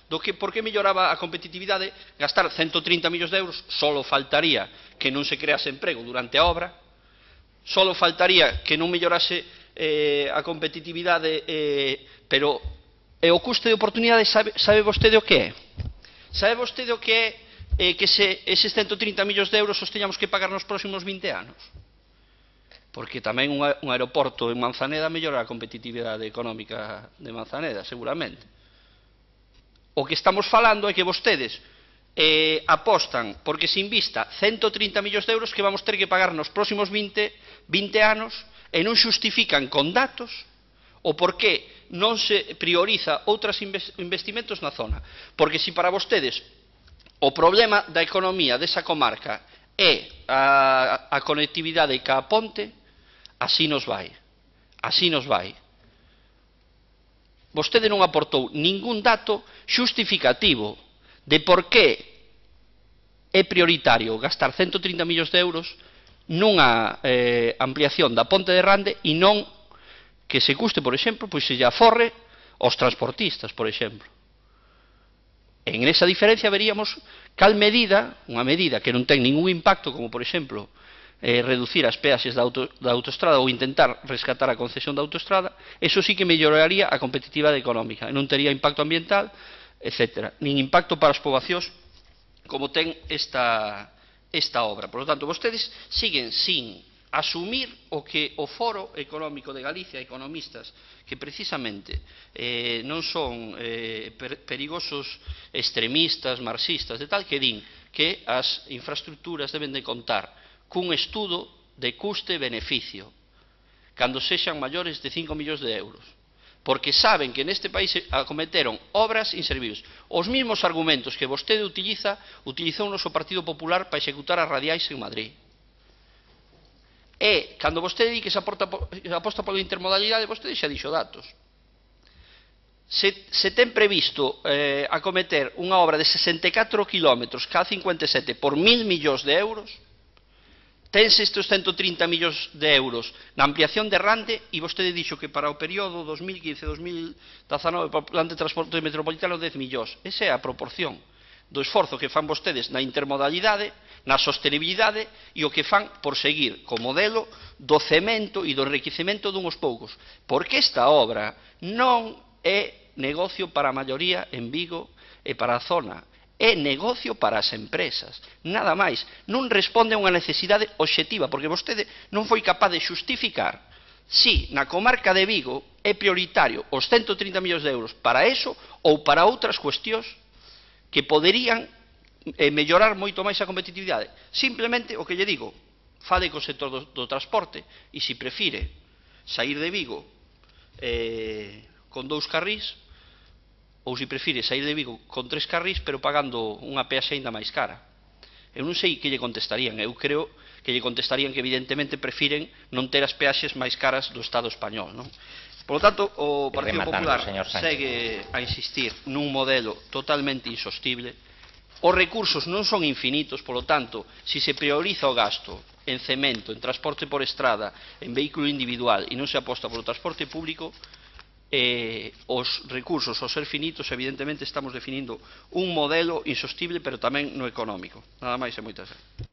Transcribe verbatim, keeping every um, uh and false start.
do que por que melloraba a competitividade gastar cento trinta millóns de euros, solo faltaría que non se crease emprego durante a obra, solo faltaría que non mellorase eh, a competitividade, eh, pero e o custe de oportunidade sabe, sabe vostede o que é? Sabe vostede o que é eh, que se eses cento trinta millóns de euros os teñamos que pagar nos próximos vinte anos? Porque tamén un, un aeroporto en Manzaneda mellora a competitividade económica de Manzaneda, seguramente. O que estamos falando é que vostedes eh, apostan porque se invista cento trinta millóns de euros que vamos ter que pagar nos próximos vinte, vinte anos e non xustifican con datos o por que non se prioriza outros investimentos na zona. Porque se para vostedes o problema da economía desa comarca é a, a conectividade ca ponte, así nos vai. Así nos vai. Vostede non aportou ningún dato xustificativo de por que é prioritario gastar cento trinta millóns de euros nunha eh, ampliación da ponte de Rande e non que se custe, por exemplo, pois se lle aforre aos transportistas, por exemplo. En esa diferencia veríamos cal medida, unha medida que non ten ningún impacto, como por exemplo Eh, reducir as peaxes da, auto, da autoestrada ou intentar rescatar a concesión da autoestrada, eso sí que melloraría a competitividade económica, non tería impacto ambiental, etcétera, nin impacto para as poboacións como ten esta, esta obra. Por lo tanto, vostedes siguen sin asumir o que o Foro Económico de Galicia, economistas que precisamente eh, non son eh, per, perigosos extremistas, marxistas, de tal que din que as infraestructuras deben de contar cun estudo de custe-beneficio cando sexan maiores de cinco millóns de euros, porque saben que neste país acometeron obras inservibles. Os mesmos argumentos que vostede utiliza, utilizou o noso Partido Popular para executar as radiais en Madrid. E, cando vostede di que se aporta, aposta pola intermodalidade, vostede xa dixo datos. Se, se ten previsto eh, acometer unha obra de sesenta e catro kilómetros K cincuenta e sete por mil millóns de euros, tense estes cento trinta millóns de euros na ampliación de Rande e vostede dixo que para o período dos mil quince a dos mil dezanove para o plan de transporte metropolitano dez millóns. Esa é a proporción do esforzo que fan vostedes na intermodalidade, na sostenibilidade e o que fan por seguir co modelo do cemento e do enriquecemento dunhos poucos. Porque esta obra non é negocio para a maioría en Vigo e para a zona. É negocio para as empresas, nada máis. Non responde a unha necesidade obxectiva, porque vostede non foi capaz de xustificar si na comarca de Vigo é prioritario os cento trinta millóns de euros para eso ou para outras cuestións que poderían eh, mellorar moito máis a competitividade. Simplemente o que lle digo, fale co sector do, do transporte e se prefire sair de Vigo eh, con dous carrís, ou se prefire sair de Vigo con tres carrís, pero pagando unha peaxe ainda máis cara. Eu non sei que lle contestarían. Eu creo que lle contestarían que evidentemente prefiren non ter as peaxes máis caras do Estado español, non? Por lo tanto, o Partido Popular segue a insistir nun modelo totalmente insostible. Os recursos non son infinitos, por lo tanto, se se prioriza o gasto en cemento, en transporte por estrada, en vehículo individual e non se aposta polo transporte público, Eh, os recursos ao ser finitos evidentemente estamos definindo un modelo insostible pero tamén no económico. Nada máis e moitas gracias.